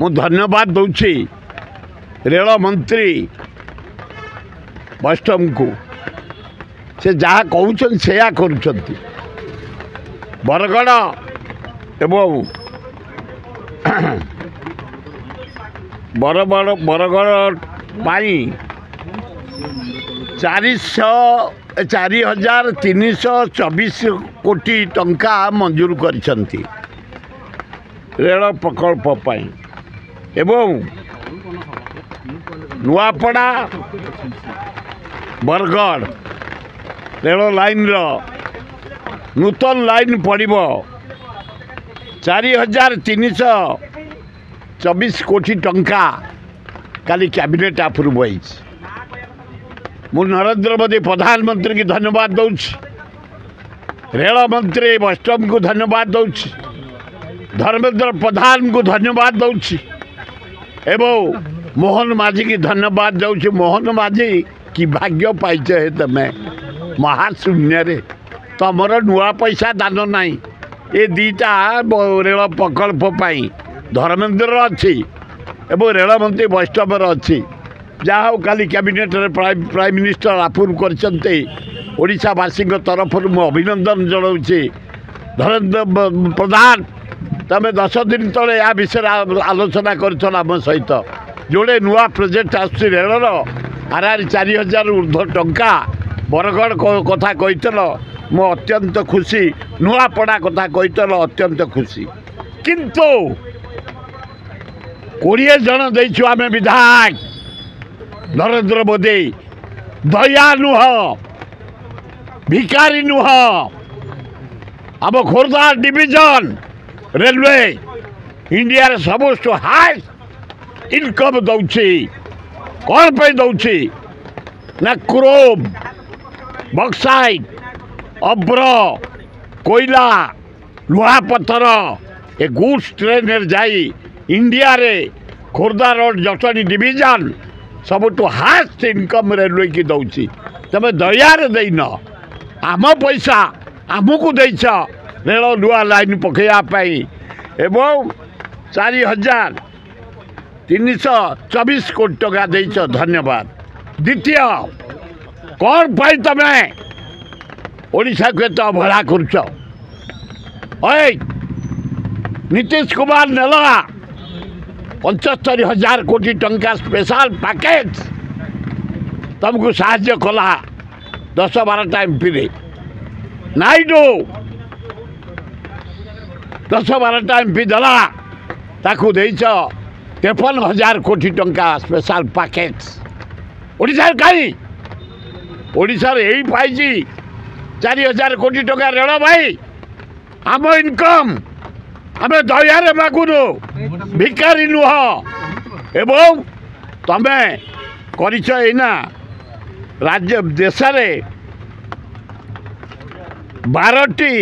ମୁଁ ଧନ୍ୟବାଦ ଦେଉଛି ରେଳ ମନ୍ତ୍ରୀ ବୈଷ୍ଣବଙ୍କୁ। ସେ ଯାହା କହୁଛନ୍ତି ସେୟା କରୁଛନ୍ତି। ବରଗଡ଼ ଏବଂ ବରଗଡ଼ ପାଇଁ 4324 କୋଟି ଟଙ୍କା ମଞ୍ଜୁର କରିଛନ୍ତି ରେଳ ପ୍ରକଳ୍ପ ପାଇଁ। ଏବଂ ନୂଆପଡ଼ା ବରଗଡ଼ ରେଳ ଲାଇନ୍ର ନୂତନ ଲାଇନ୍ ପଡ଼ିବ 4324 କୋଟି ଟଙ୍କା କାଲି କ୍ୟାବିନେଟ୍ ଆପ୍ରୁଭ୍ ହେଇଛି। ମୁଁ ନରେନ୍ଦ୍ର ମୋଦି ପ୍ରଧାନମନ୍ତ୍ରୀଙ୍କୁ ଧନ୍ୟବାଦ ଦେଉଛି, ରେଳମନ୍ତ୍ରୀ ବୈଷ୍ଣବଙ୍କୁ ଧନ୍ୟବାଦ ଦେଉଛି, ଧର୍ମେନ୍ଦ୍ର ପ୍ରଧାନଙ୍କୁ ଧନ୍ୟବାଦ ଦେଉଛି ଏବଂ ମୋହନ ମାଝୀକି ଧନ୍ୟବାଦ ଦେଉଛି। ମୋହନ ମାଝୀ କି ଭାଗ୍ୟ ପାଇଛ ହେ ତମେ, ମହାଶୂନ୍ୟରେ ତମର ନୂଆ ପଇସା ଦାନ ନାହିଁ। ଏ ଦୁଇଟା ରେଳ ପ୍ରକଳ୍ପ ପାଇଁ ଧର୍ମେନ୍ଦ୍ରର ଅଛି ଏବଂ ରେଳମନ୍ତ୍ରୀ ବୈଷ୍ଣବର ଅଛି। ଯାହା ହଉ କାଲି କ୍ୟାବିନେଟ୍ରେ ପ୍ରାଇମ୍ ମିନିଷ୍ଟର ଆପ୍ରୁଭ୍ କରିଛନ୍ତି। ଓଡ଼ିଶାବାସୀଙ୍କ ତରଫରୁ ମୁଁ ଅଭିନନ୍ଦନ ଜଣାଉଛି। ଧର୍ମେନ୍ଦ୍ର ପ୍ରଧାନ, ତମେ 10 ଦିନ ତଳେ ୟା ବିଷୟରେ ଆଲୋଚନା କରିଥିଲ ଆମ ସହିତ। ଯୋଡ଼େ ନୂଆ ପ୍ରୋଜେକ୍ଟ ଆସୁଛି ରେଳର, ହାରାହାରି 4000 ଉର୍ଦ୍ଧ୍ୱ ଟଙ୍କା। ବରଗଡ଼ କଥା କହିଥିଲ, ମୁଁ ଅତ୍ୟନ୍ତ ଖୁସି। ନୂଆପଡ଼ା କଥା କହିଥିଲ, ଅତ୍ୟନ୍ତ ଖୁସି। କିନ୍ତୁ 20 ଜଣ ଦେଇଛୁ ଆମେ ବିଧାୟକ। ନରେନ୍ଦ୍ର ମୋଦି ଦୟା ନୁହଁ, ଭିକାରୀ ନୁହଁ। ଆମ ଖୋର୍ଦ୍ଧା ଡିଭିଜନ ରେଲୱେ ଇଣ୍ଡିଆରେ ସବୁଠୁ ହାଇ ଇନକମ୍ ଦେଉଛି। କ'ଣ ପାଇଁ ଦେଉଛି ନା କ୍ରୋମ୍, ବକ୍ସାଇଟ୍, ଅବ୍ର, କୋଇଲା, ଲୁହାପଥର ଏ ଗୁଡ୍ସ ଟ୍ରେନ୍ରେ ଯାଇ ଇଣ୍ଡିଆରେ ଖୋର୍ଦ୍ଧା ରୋଡ଼ ଜଟଣୀ ଡିଭିଜନ ସବୁଠୁ ହାଏଷ୍ଟ ଇନକମ୍ ରେଲୱେକି ଦେଉଛି। ତମେ ଦୟାରେ ଦେଇନ, ଆମ ପଇସା ଆମକୁ ଦେଇଛ ରେଳ ନୂଆ ଲାଇନ୍ ପକାଇବା ପାଇଁ। ଏବଂ 4324 କୋଟି ଟଙ୍କା ଦେଇଛ, ଧନ୍ୟବାଦ। ଦ୍ୱିତୀୟ, କ'ଣ ପାଇଁ ତମେ ଓଡ଼ିଶାକୁ ଏତେ ଅବହେଳା କରୁଛ? ଏଇ ନୀତିଶ କୁମାର ନେଲା 75,000 କୋଟି ଟଙ୍କା ସ୍ପେଶାଲ ପ୍ୟାକେଜ, ତୁମକୁ ସାହାଯ୍ୟ କଲା 10 12ଟା ଏମ୍ପିରେ। ନାଇଡୁ 10 12ଟା ଏମ୍ପି ଦେଲା, ତାକୁ ଦେଇଛ 53,000 କୋଟି ଟଙ୍କା ସ୍ପେଶାଲ ପ୍ୟାକେଜ। ଓଡ଼ିଶାରେ କାହିଁ? ଓଡ଼ିଶାରେ ଏଇ ପାଇଛି 4000 କୋଟି ଟଙ୍କା ରେଳ ଭାଇ। ଆମ ଇନକମ୍ ଆମେ ଦୟାରେ ମାଗୁନୁ, ଭିକାରୀ ନୁହଁ। ଏବଂ ତମେ କରିଛ ଏଇନା ରାଜ୍ୟ ଦେଶରେ 12ଟି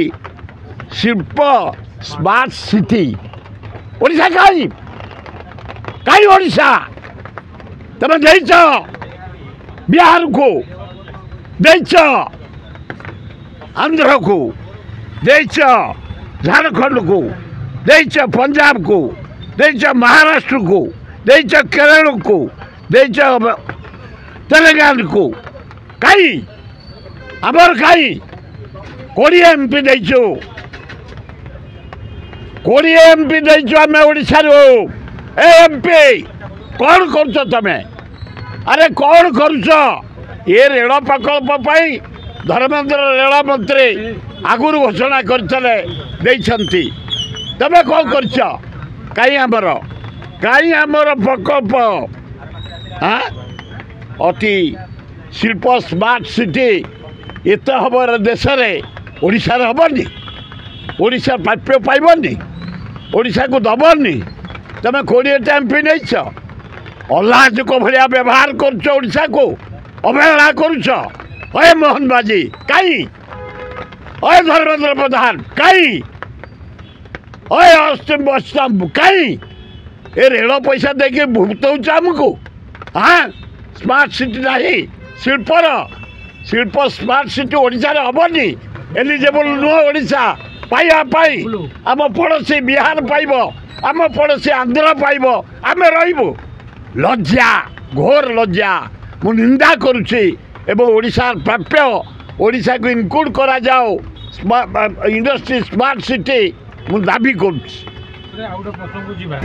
ଶିଳ୍ପ ସ୍ମାର୍ଟ ସିଟି। ଓଡ଼ିଶା କାହିଁ? କାହିଁ ଓଡ଼ିଶା? ତମେ ଦେଇଛ ବିହାରକୁ, ଦେଇଛ ଆନ୍ଧ୍ରକୁ, ଦେଇଛ ଝାଡ଼ଖଣ୍ଡକୁ, ଦେଇଛ ପଞ୍ଜାବକୁ, ଦେଇଛ ମହାରାଷ୍ଟ୍ରକୁ, ଦେଇଛ କେରଳକୁ, ଦେଇଛ ତେଲେଙ୍ଗାନାକୁ। କାହିଁ ଆମର? କାହିଁ? 20 ଏମ୍ପି ଦେଇଛୁ, 20 ଏମ୍ପି ଦେଇଛୁ ଆମେ ଓଡ଼ିଶାରୁ। ଏ ଏମ୍ପି କ'ଣ କରୁଛ ତମେ? ଆରେ କ'ଣ କରୁଛ? ଏ ରେଳ ପ୍ରକଳ୍ପ ପାଇଁ ଧର୍ମେନ୍ଦ୍ର ରେଳମନ୍ତ୍ରୀ ଆଗରୁ ଘୋଷଣା କରିଥିଲେ, ଦେଇଛନ୍ତି। ତମେ କ'ଣ କରିଛ? କାହିଁ ଆମର, କାହିଁ ଆମର ପ୍ରକଳ୍ପ? ହଁ, ଅତି ଶିଳ୍ପ ସ୍ମାର୍ଟ ସିଟି ଏତେ ହେବ ଦେଶରେ, ଓଡ଼ିଶାରେ ହେବନି? ଓଡ଼ିଶା ପ୍ରାପ୍ୟ ପାଇବନି? ଓଡ଼ିଶାକୁ ଦେବନି? ତମେ 20ଟା ଏମ୍ପି ନେଇଛ, ଅଲାଜୁକ ଭଳିଆ ବ୍ୟବହାର କରୁଛ, ଓଡ଼ିଶାକୁ ଅବହେଳା କରୁଛ। ଅଏ ମୋହନ ମାଝୀ କାହିଁ? ଅଏ ଧର୍ମେନ୍ଦ୍ର ପ୍ରଧାନ କାହିଁ? ଅଏ ଅଶ୍ବିନ ବୈଷ୍ଣବ କାହିଁ? ଏ ରେଳ ପଇସା ଦେଇକି ଭୁକ୍ତଉଛ ଆମକୁ। ହଁ, ସ୍ମାର୍ଟ ସିଟି ନାହିଁ, ଶିଳ୍ପର ଶିଳ୍ପ ସ୍ମାର୍ଟ ସିଟି ଓଡ଼ିଶାରେ ହେବନି। ଏଲିଜିବଲ୍ ନୁହଁ ଓଡ଼ିଶା ପାଇବା ପାଇଁ। ଆମ ପଡ଼ୋଶୀ ବିହାର ପାଇବ, ଆମ ପଡ଼ୋଶୀ ଆନ୍ଧ୍ର ପାଇବ, ଆମେ ରହିବୁ। ଲଜ୍ଜା, ଘୋର ଲଜ୍ଜା। ମୁଁ ନିନ୍ଦା କରୁଛି ଏବଂ ଓଡ଼ିଶାର ପ୍ରାପ୍ୟ, ଓଡ଼ିଶାକୁ ଇନକ୍ଲୁଡ଼ କରାଯାଉ ଇଣ୍ଡଷ୍ଟ୍ରି ସ୍ମାର୍ଟ ସିଟି, ମୁଁ ଦାବି କରୁଛି। ଆଉ ଗୋଟେ ପ୍ରସଙ୍ଗକୁ ଯିବା।